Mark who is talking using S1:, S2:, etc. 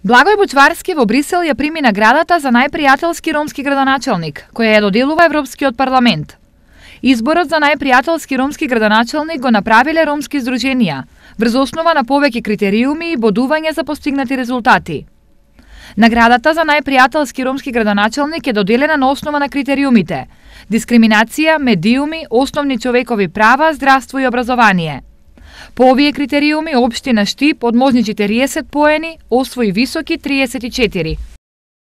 S1: Благој Бучварски во Брисел ја прими наградата за најпријателски ромски градоначалник, која ја доделува Европскиот парламент. Изборот за најпријателски ромски градоначалник го направиле ромски здруженија, врз основа на повеќе критериуми и бодување за постигнати резултати. Наградата за најпријателски ромски градоначалник е доделена на основа на критериумите: дискриминација, медиуми, основни човекови права, здравство и образование. По овие критериуми општина Штип од можни 40 поени освои високи 34.